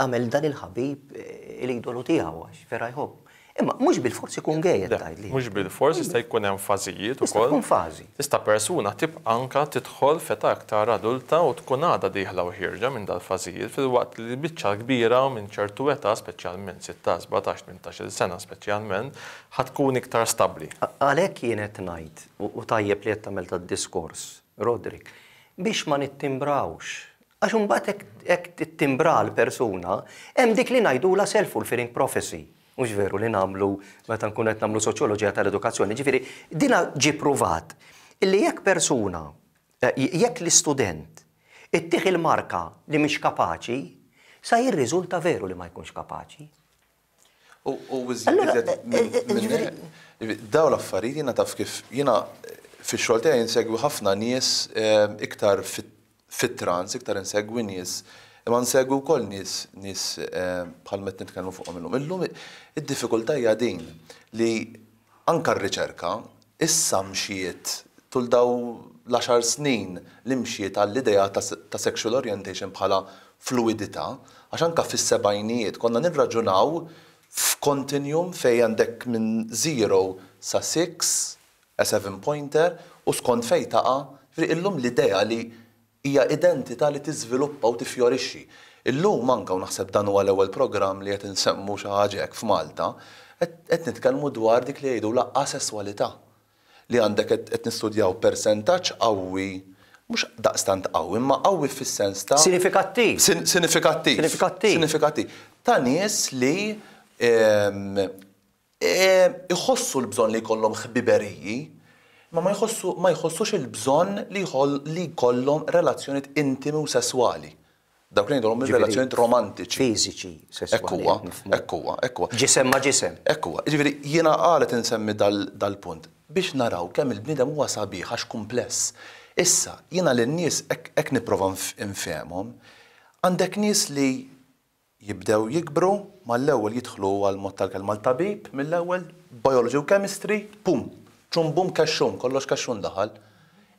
għamel dan il-ħabib l-idolu tiegħu għax vera jħobb. Imma mhux bilfors ikun gay qed tgħidli. Mhux bilfors, jista' jkun hemm fażijiet ukoll. Tista' tkun fażi. Tista' persuna tibqa' anke tidħol f'età iktar adulta u tkun għadha dieħla u ħierġa minn dal-fażijiet filwaqt li l-biċċa l-kbira minn ċertu età, speċjalment sittax, sbatax, tmintax-il sena speċjalment, ħa tkun iktar stabbli. Għalhekk jien qed ngħid, u tajjeb li qed tagħmel dad-diskors, Roderick, biex ma nittimbrawx Għax imbagħad hekk tittimbra l-persuna, hemm dik li ngħidulha self-fulfilling prophecy. Mhux veru li nagħmlu meta nkunu qed nagħmlu soċjoloġija tal-edukazzjoni. Ġifieri, dina ġie pruvat illi jekk persuna, jekk l-istudent ittih il-marka li mhix kapaċi, sa jirriżulta veru li ma jkunx kapaċi. U iżjed dawn l-affarijiet jiena taf kif jiena fix-xogħol tiegħi insegwi ħafna nies iktar fit-trans, iktar insegwi nies, imma nsegwi wkoll nies nies bħal qed nitkellmu fuqhom illum. Illum id-diffikultà hija din li anke r-riċerka issa mxiet tul dawn l-għaxar snin li mxiet għall-idea ta' sexual orientation bħala fluwidità, għax anke fis-sebgħinijiet konna nirraġunaw f'continuum fejn għandek minn zero sa six, a seven pointer, u skont fejn taqa', jiġifieri illum l-idea li hija identità li tiżviluppa u tiffjorixxi. Illum anke, u naħseb dan huwa l-ewwel programm li qed insemmu xi ħaġa hekk f'Malta, qed nitkellmu dwar dik li jgħidulha asesswalità. Li għandek qed nistudjaw persentaġġ qawwi, mhux daqstant qawwi, imma qawwi fis-sens ta'. Sinifikattiv. Sinifikattiv. Sinifikattiv. Sinifikattiv. Ta' nies li iħossu l-bżonn li jkollhom ħbiberiji, imma ma jħossu ma jħossux il-bżonn li li jkollhom relazzjonijiet intimi u sesswali. Dawk li ngħidulhom ir-relazzjonijiet romantiċi. Fiżiċi, sesswali. Hekk huwa, hekk huwa, hekk huwa. Ġisem ma' ġisem. Hekk huwa. Jiġifieri jiena għala qed insemmi dal-punt? Biex naraw kemm il-bniedem huwa sabiħ għax kumpless. Issa, jiena lin-nies hekk nipprova nfehmhom. Għandek nies li jibdew jikbru, mal-ewwel jidħlu għall-mod tal-kelma l-tabib, mill-ewwel, biology u chemistry, pum, ċum bum kexxun, kollox kexxun daħal.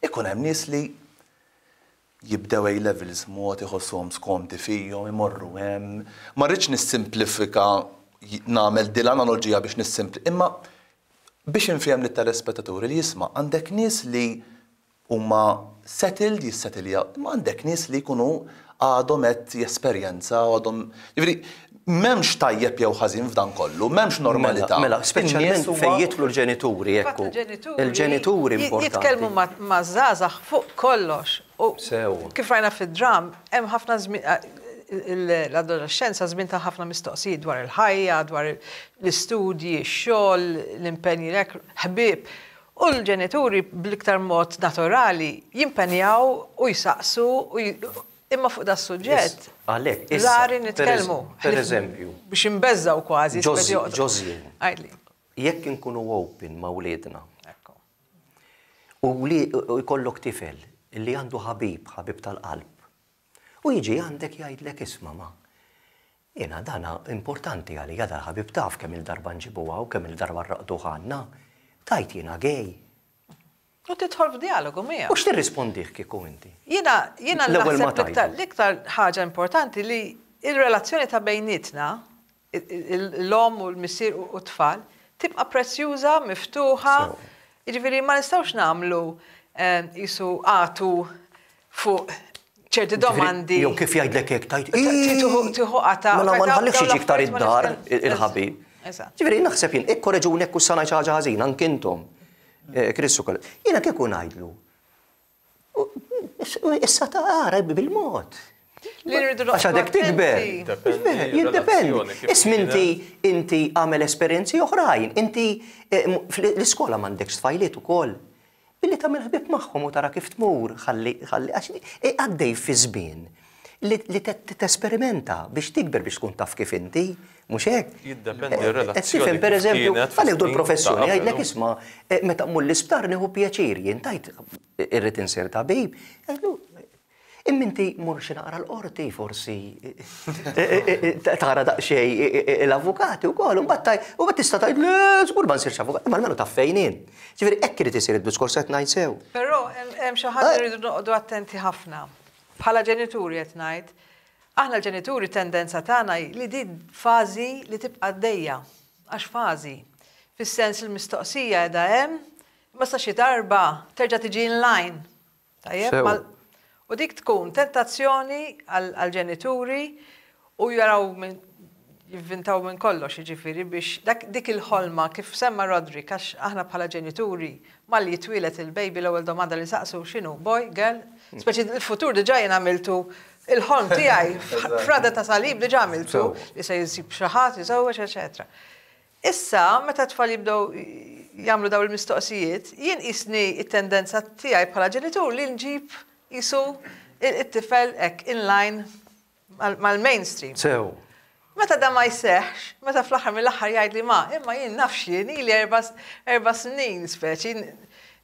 Ikun hemm nies li jibdew A levels mod iħossuhom skomdi fihom, imorru hemm. Ma rridx nissimplifika, nagħmel din l-analoġija biex nissimpli, imma biex infiehem lit-telespettaturi li jisma' għandek nies li huma settled, jissetiljaw, imma għandek nies li jkunu għadhom qed jesperjenzaw, għadhom, jiġifieri m'hemmx tajjeb jew ħażin f'dan kollu, m'hemmx normalità. Mela, speċjalment fejn jidħlu l-ġenituri, ekku. Il-ġenituri importanti. Jitkellmu maż-żgħażagħ fuq kollox. U kif rajna fid-dramm, hemm ħafna żmien l-adolexxenza żmien ta' ħafna mistoqsijiet dwar il-ħajja, dwar l-istudji, ix-xogħol, l-impenji, ħbieb. U l-ġenituri bl-iktar mod naturali jimpenjaw u jsaqsu u imma fuq das-suġġett rari nitkellmu. Per eżempju. Biex inbeżżgħu kważi. Ġożjin. Għidli. Jekk inkunu open ma' wliedna. U jkollok tifel li għandu ħabib, ħabib tal-qalb. U jiġi għandek jgħidlek isma' ma, jiena dana importanti għalija dal-ħabib taf kemm-il darba nġibu hawn, kemm-il darba nraqqduh għandna. Tgħid jiena gay. U tidħol f'djalogu miegħu. U x'tirrispondih kieku inti? Jiena jiena naħseb l-iktar l-iktar ħaġa importanti li l-relazzjoni ta' bejnietna, l-omm u l-missier u t-tfal, tibqa' prezzjuża, miftuħa. Jiġifieri ma nistgħux nagħmlu qisu għatu fuq ċerti domandi. Jew kif jgħidlek hekk tgħid. Tieħu qata. Mela ma nħallihx jiġi iktar id-dar il-ħabib. Ġifieri naħseb jien ikkoreġuni jekk hux sa ngħid xi ħaġa ħażina anke intom. Chris ukoll. Jiena kieku ngħidlu. Issa tara bil-mod. Li rridu Għax għadek tikber. Jiddependi. Isma' inti inti għamel esperjenzi oħrajn. Inti fl-iskola m'għandekx tfajliet ukoll. Billi tagħmel ħbieb magħhom u tara kif tmur, ħalli, ħalli, għax għaddej fi żmien li, li tesperimenta biex tikber biex tkun taf kif inti, mhux hekk? Jiddependi r-relazzjoni. Tifhem, per eżempju, ħa nieħdu l-professjoni, jgħidlek isma' meta mmur l-isptar nieħu pjaċir, jien tgħid irrid insir tabib, jgħidlu Imma inti mur xi naqra l-qorti forsi tara daqsxejn l-avukati wkoll, u mbagħad tista' tgħid le żgur ma nsirx avukat, imma almenu taf fejn int. Ġifieri hekk irid isir id-diskors qed ngħid sew. Però hemm xi ħaġa li rridu noqogħdu attenti ħafna. Bħala ġenituri qed ngħid, aħna l-ġenituri tendenza tagħna hi li din fażi li tibqa' għaddejja, għax fażi. Fis-sens il-mistoqsija qiegħda hemm, imma sa xi darba terġa' tiġi in line. Tajjeb? U dik tkun tentazzjoni għall-ġenituri u jaraw minn jivvintaw minn kollox, jiġifieri biex dak dik il-ħolma kif semma Roderick għax aħna bħala ġenituri malli jitwieled il-baby l-ewwel domanda li nsaqsu x'inhu, boy, girl? Speċi il-futur diġà jien għamiltu il-ħolm tiegħi f'rada ta' salib diġà għamiltu li se jsib xi ħadd, jiżewweġ, eċetera. Issa, meta t-tfal jibdew jagħmlu dawn il-mistoqsijiet, jien qisni t-tendenza tiegħi bħala ġenitur li nġib qisu it-tifel hekk in line mal-mainstream. Sew. Meta dan ma jseħħx, meta fl-aħħar mill-aħħar jgħidli ma, imma jien naf x'jien, ili erba' snin speċi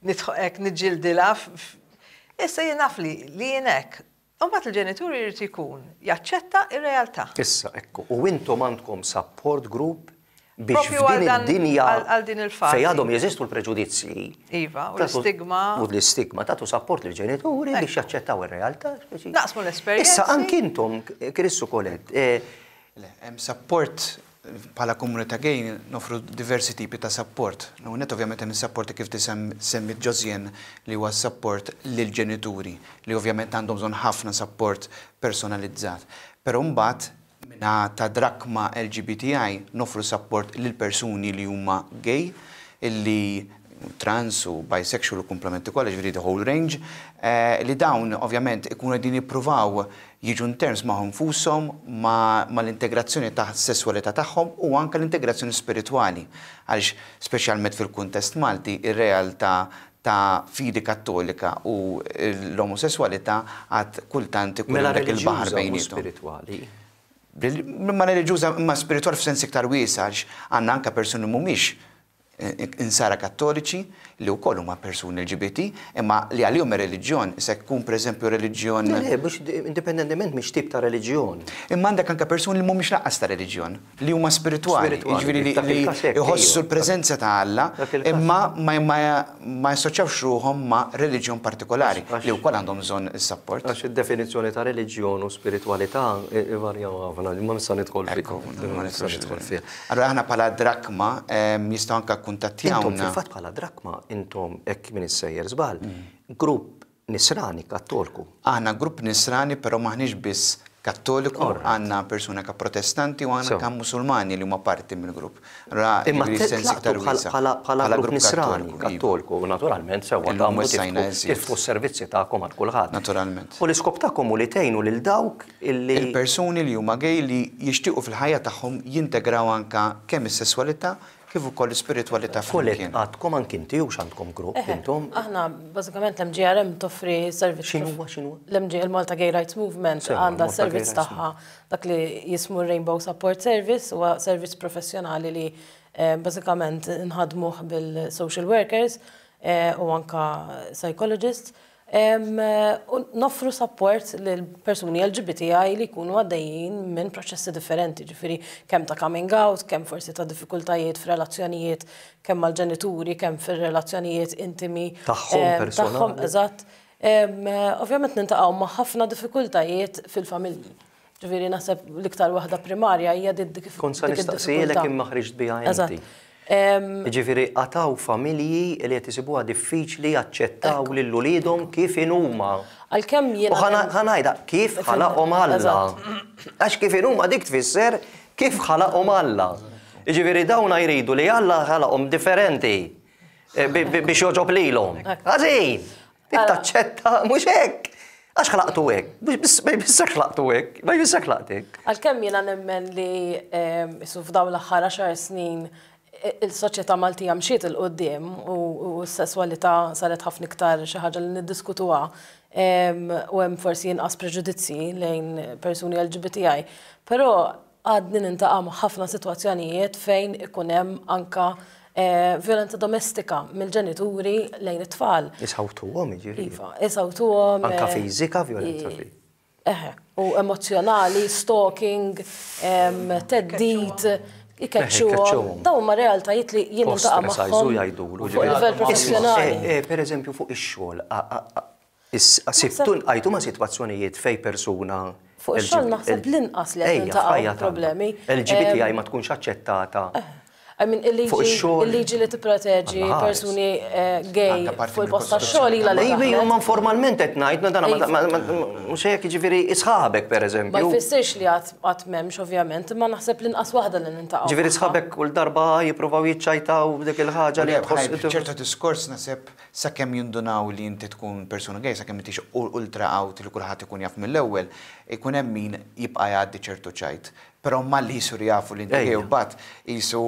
nidħol hekk niġġildilha. Issa jien naf li jien hekk. U mbagħad il-ġenitur irid ikun jaċċetta r-realtà. Issa, ekku, u intom għandkom support group biex f'din id-dinja fejn għadhom jeżistu l-preġudizzji. Iva, u l-istigma. U l-istigma, tagħtu support lill-ġenituri biex jaċċettaw ir-realtà. Naqsmu l-esperjenzi. Issa anki intom, Chris u Colette. Le, hemm support Bħala komunità gay noffru diversi tipi ta' sapport. L-ewwel nett ovvjament hemm is-sapport li kif semmiet Josiane li huwa s-sapport lill-ġenituri li ovvjament għandhom bżonn ħafna sapport personalizzat. Però mbagħad min-naħa ta' Drachma LGBTI noffru sapport lil persuni li huma gay illi trans u bisexual u kumplementi kollha, jiġifieri the whole range, li dawn ovvjament ikunu qegħdin jippruvaw jiġu in terms magħhom infushom, mal-integrazzjoni tas-sesswalità tagħhom u anke l-integrazzjoni spiritwali. Għaliex speċjalment fil-kuntest Malti ir-realtà ta' fidi Kattolika u l-omosesswalità għad kultant ikun hemm dak il-baħar Mela reliġjuża mhux bejniethom. spiritwali. Ma reliġjuża imma spiritwali f'sens iktar wiesa' għaliex għandna anke persuni mhumiex. Insara Kattoliċi li wkoll huma persuni LGBT, imma li għalihom ir-reliġjon se jkun pereżempju reliġjon. Le, le, mhux indipendentement mhix tip ta' reliġjon. Imma għandek anke persuni li mhumiex lanqas ta' reliġjon, li huma spiritwali, jiġifieri li jħossu l-preżenza ta' Alla, imma ma jassoċjawx ruħhom ma' reliġjon partikolari, li wkoll għandhom bżonn is-sapport. Għax id-definizzjoni ta' reliġjon u spiritwalità ivarjaw ħafna, imma mhux se nidħol fiha. Ma nistgħux nidħol fiha. Allura aħna bħala Drakma jistgħu anke kkuntattjawna. Intom fil-fatt bħala Drakma intom hekk m'iniex sejjer żball, grupp Nisrani Kattolku. Aħna grupp Nisrani però m'aħniex biss Kattoliku, għandna persuni anke Protestanti u għandna anke Musulmani li huma parti mill-grupp. Allura Imma tlaqtu bħala grupp Nisrani Kattolku u naturalment sewwa tagħmlu tiftħu s-servizzi tagħkom għal kulħadd. Naturalment. U l-iskop tagħkom hu li tgħinu lil dawk illi. Il-persuni li huma gay li jixtiequ fil-ħajja tagħhom jintegraw anke kemm is-sesswalità kif ukoll l-ispiritwalità flimkien. Colette, għadkom anki inti hux għandkom grupp intom? Aħna bażikament l-MGRM toffri servizz. X'inhuwa x'inhuwa? L-MG, il-Malta Gay Rights Movement għandha s-servizz tagħha dak li jismu Rainbow Support Service, huwa servizz professjonali li bażikament nħaddmuh bil-social workers u anke psychologists. U noffru sapport lil persuni LGBTI li jkunu għaddejjin minn proċessi differenti, ġifieri kemm ta' coming out, kemm forsi ta' diffikultajiet f'relazzjonijiet kemm mal-ġenituri, kemm fir-relazzjonijiet intimi tagħhom personali. Tagħhom, eżatt. Ovvjament niltaqgħu ma' ħafna diffikultajiet fil-familji. Ġifieri naħseb l-iktar waħda primarja hija dik dik Kont sa nistaqsielek imma ħriġt biha inti. Jiġifieri għad hawn familji li qed isibuha diffiċli jaċċettaw lil uliedhom kif inhuma. Għalkemm jiena. U ħa ngħidha, kif ħalaqhom Alla. Għax kif inhuma dik tfisser kif ħalaqhom Alla. Jiġifieri dawn jridu li Alla ħalaqhom differenti biex jogħġob lilhom. Ħażin! Trid taċċetta, mhux hekk! Għax ħlaqtu hekk, ma jfissirx ħlaqtu hekk, ma jfissirx ħlaqt hekk. Għalkemm jiena nemmen li isu f'dawn l-aħħar għaxar snin il-soċjetà Maltija mxiet 'il quddiem u s-sesswalità saret ħafna iktar xi ħaġa li niddiskutuha u hemm forsi inqas preġudizzji lejn persuni LGBTI. Però Għadni niltaqa' ma' ħafna sitwazzjonijiet fejn ikun hemm anke vjolenza domestika mill-ġenituri lejn it-tfal. Isawtuhom jiġifieri? Iva, isawtuhom. Anke fiżika vjolenza fiżika? Eħe, u emozzjonali, stalking, theddid, ikeċċuhom. Dawn huma realtajiet li jien niltaqa' magħhom fuq livell professjonali. Pereżempju fuq ix-xogħol, Sibtu lqajtu ma' sitwazzjonijiet fejn persuna. Fuq ix-xogħol naħseb l-inqas li qed niltaqgħu problemi. LGBTI ma tkunx aċċettata. I mean, il-liġi li tipproteġi persuni gay fuq il-post tax-xogħol ilha li. Iva, imma formalment qed ngħid, dan mhux hekk, jiġifieri sħabek pereżempju. Ma jfissirx li għad m'hemmx ovvjament, imma naħseb l-inqas waħda li niltaqgħu. Ġifieri sħabek kull darba jippruvaw jiċċajtaw b'dik il-ħaġa li tħoss. Ċertu diskors naħseb Sakemm jindunaw li inti tkun persuna gay, sakemm m'intix ultra out li kulħadd ikun jaf mill-ewwel, ikun hemm min jibqa' jgħaddi ċertu ċajt. Però malli jsiru jafu li inti gay u mbagħad qisu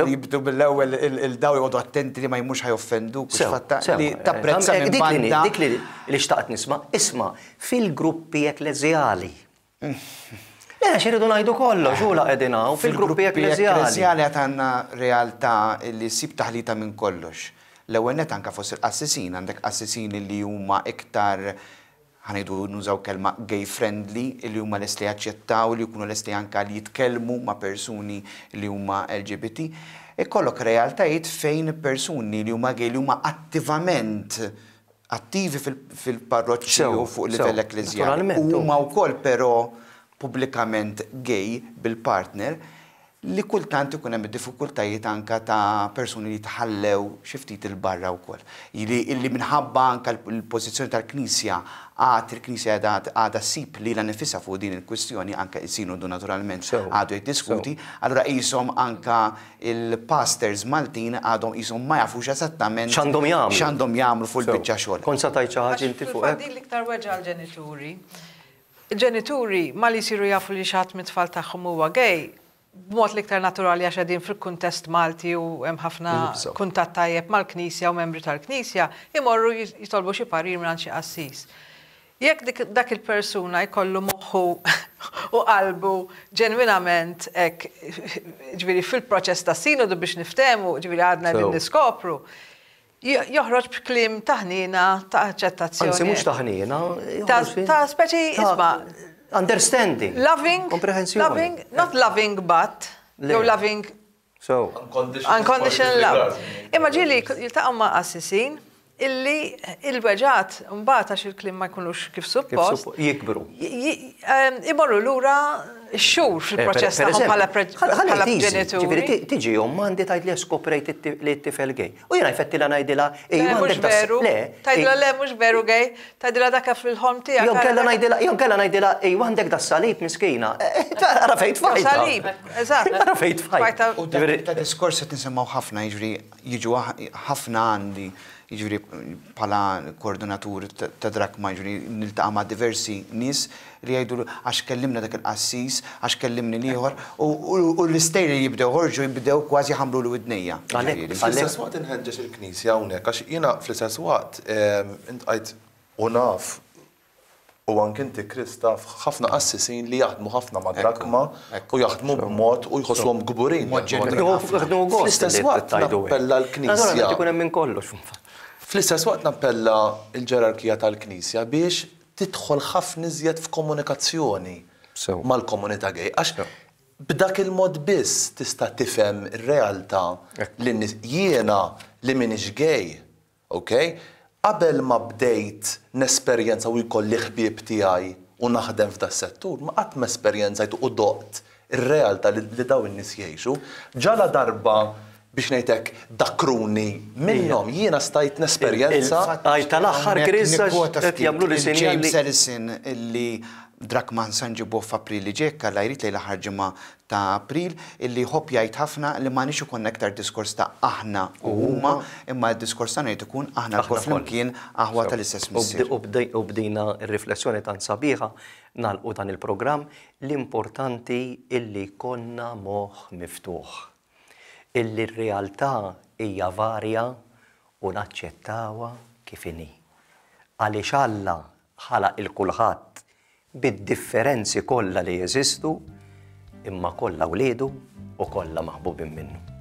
jibdu mill-ewwel il-daw joqogħdu attenti li ma jmurx ħa joffenduk u x'fatta li tapprezza minn banda. Dik li xtaqt nisma'. Isma', fil-gruppi ekkleżjali, Le, għax irridu ngħidu kollox, u la qegħdin hawn fil-gruppi ekkleżjali. Ekkleżjali għad għandna realtà li ssib taħlita minn kollox. L-ewwel nett anke fost il-qassisin, għandek qassisin li huma iktar, ħa ngħidu nużaw kelma gay friendly, li huma lesti jaċċettaw, li jkunu lesti anke li jitkellmu ma' persuni li huma LGBT. Ikollok realtajiet fejn persuni li huma gay li huma attivament attivi fil-parroċċi u fuq livell ekkleżjali u huma wkoll però pubblikament gay bil-partner, li kultant ikun hemm id-diffikultajiet anke ta' persuni li jitħallew xi ftit 'il barra wkoll. Illi minħabba anke l-pożizzjoni tal-Knisja għad il-Knisja qiegħda għadha ssib lilha nifisha fuq din il-kwistjoni, anke is-Sinodu naturalment għadu jiddiskuti, allura qishom anke Il-pastors Maltin għadhom qishom ma jafux eżattament X'għandhom jagħmlu. x'għandhom jagħmlu fuq il-biċċa xogħol. Kont sa tgħid xi ħaġa inti fuq hekk? Fil-fatt din l-iktar weġgħa għall-ġenituri. Il-ġenituri malli jsiru jafu li xi ħadd mit-tfal tagħhom huwa gay, b'mod l-iktar naturali għax qegħdin fil-kuntest Malti u hemm ħafna kuntatt tajjeb mal-Knisja u membri tal-Knisja, imorru jitolbu xi parir mingħand xi qassis. Jekk dik dak il-persuna jkollu moħħu u qalbu ġenwinament hekk, ġifieri fil-proċess ta' sinodu biex niftehmu, ġifieri għadna qegħdin niskopru, joħroġ b'kliem ta' ħniena, ta' aċċettazzjoni. Anzi mhux ta' ħniena. Ta' speċi isma'. Understanding. Loving. Komprehensjoni. Loving, not loving but, jew loving So. Unconditional love. Imma ġieli jiltaqgħu ma' qassisin illi il-weġgħat mbagħad għax il-kliem ma jkunux kif suppost. Jikbru. Imorru lura x-xhur fil-proċess tagħhom bħala ġenituri. Ġifieri tiġi omm għandi tgħid li skoprejt li t-tifel gay. U jiena jfettilha ngħidilha ejwa għandek veru. Le. Tgħidilha le mhux veru gay, tgħidilha dak fil-ħolm tiegħek. Jew kellha ngħidilha, jew kellha ngħidilha ejwa għandek das-salib miskina. Ara fejn tfajtha. Salib, eżatt. Ara fejn tfajtha. U ta' diskors qed nisimgħu ħafna, jiġifieri jiġu ħafna għandi, jiġifieri bħala koordinatur ta' Drakma, jiġifieri niltaqa' ma' diversi nies li jgħidu għax kellimna dak il-qassis, għax kellimni l-ieħor, u l-istejjer li jibdew joħorġu jibdew kważi jħammruli widnejja. Għalhekk, fl-istess waqt inħeġġeġ il-Knisja hawnhekk għax jiena fl-istess waqt intqajt u naf u anke inti Chris taf ħafna qassisin li jaħdmu ħafna ma' Drakma u jaħdmu b'mod u jħossuhom kburin. Fl-istess waqt nappella l-Knisja. Ikun hemm minn kollox. Fl-istess waqt nappella l-ġerarkija tal-Knisja biex tidħol ħafna iżjed f'komunikazzjoni mal-komunità gay għax b'dak il-mod biss tista' tifhem ir-realtà li n-nies, jiena li m'iniex gay, ok, qabel ma bdejt nesperjenza u jkolli ħbieb tiegħi u naħdem f'das-settur, ma qatt m'esperjenzajt u doqt ir-realtà li dawn in-nies jgħixu. Ġaladarba biex ngħid hekk, dakkruni minnhom, jiena stajt nesperjenza. Għaj tal-aħħar Chris għax qed jagħmluli sinjal li. James Ellison illi Drakman sa nġibuh f'April li ġej, jekk Alla jrid lejn l-aħħar ġimgħa ta' April, illi jħobb jgħid ħafna li m'għandniex ikollna iktar diskors ta' aħna u huma, imma d-diskors tagħna jrid ikun aħna lkoll flimkien aħwa tal-istess Missier. U b'dina r-riflessjoni tant sabiħa nagħlqu dan il-programm, l-importanti illi jkollna moħħ miftuħ. Illi r-realtà hija varja u naċċettawha kif inhi. Għaliex Alla ħalaq 'il kulħadd bid-differenzi kollha li jeżistu, imma kollha wliedu u kollha maħbubin minnu.